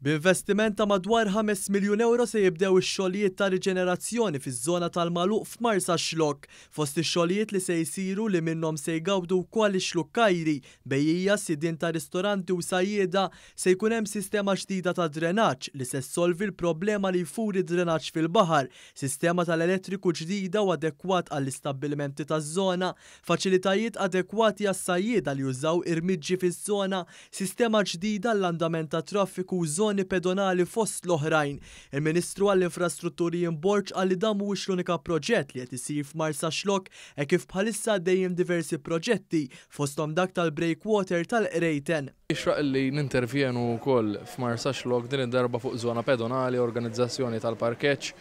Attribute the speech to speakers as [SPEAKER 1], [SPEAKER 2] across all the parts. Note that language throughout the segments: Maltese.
[SPEAKER 1] B'investiment ta' madwar 5 miljun ewro se jibdew ix-xogħlijiet ta' riġenerazzjoni fiż-żona tal-Magħluq f'Marsaxlokk. Fost ix-xogħlijiet li se jsiru li minnhom se jgawdu wkoll ix-Xlukkajri, bejjiegħa, sidien ta' ristoranti u sajjieda, se jkun hemm sistema ġdida ta' drenaġġ li se ssolvi l-problema li jfur id-drenaġġ fil-baħar, sistema tal-elettriku ġdida u adekwat għall-istabbilimenti taż-żona, faċilitajiet adekwati għas-sajjieda li jużaw irmiġġi fiż-żona, sistema ġdida għall-andament tat-traffiku u żoni pedonali fost l-oħrajn. Il-Ministru għall-Infrastrutturi Ian Borg qal li dan mhuwiex l-unika proġett li qed isir f'Marsaxlokk hekk kif bħalissa għaddejjin diversi proġetti fosthom dak tal-breakwater tal-Qrejten.
[SPEAKER 2] Jixraq li nintervjenu wkoll f'Marsaxlokk din id-darba fuq żona pedonali, organizzazzjoni tal-parkeġġ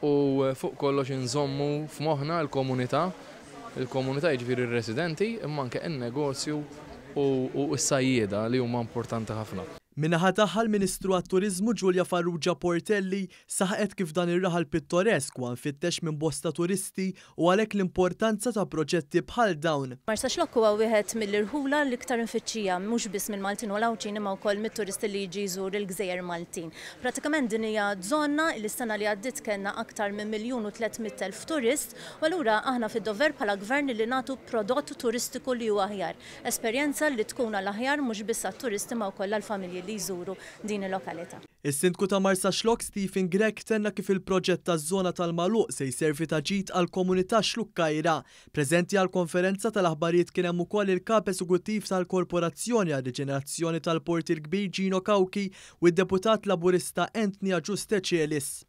[SPEAKER 2] u fuq kollox inżommu f'moħħna l-komunità, il-komunità jiġifieri r-residenti imma anke n-negozju u s-sajjieda li huma importanti ħafna.
[SPEAKER 1] Min-naħa tagħha l-Ministru għat-Turiżmu Julia Farrugia Portelli saħqet kif dan ir-raħal pittoresk huwa mfittex minn bosta turisti u għalhekk l-importanza ta' proġetti bħal dawn.
[SPEAKER 3] Marsaxlokk huwa wieħed mill-irħula l-iktar imfittxija mhux biss mill-Maltin u l-Għawdxin imma wkoll mit-turisti li jiġi jżur il-gżejjer Maltin. Pratikament din hija żona li s-sena li għaddiet kellna aktar minn 1,300,000 turist u allura aħna fid-dover bħala gvern li nagħtu prodott turistiku li huwa aħjar. Esperjenza li tkun għall-aħjar mhux biss għat-turisti ma wkoll għall-familji li jżuru din il-lokalità.
[SPEAKER 1] Is-Sindku ta' Marsaxlokk Stephen Grech tenna kif il-proġett taż-żona tal-Magħluq se jservi ta' ġid għall-komunità Xlukkajra. Preżenti għall-konferenza tal-aħbarijiet kien hemm ukoll il-Kap Eżekuttiv tal-Korporazzjoni għar-Riġenerazzjoni tal-Port il-Kbir Gino Cauchi u d-Deputat Laburista Anthony Agius Decelis.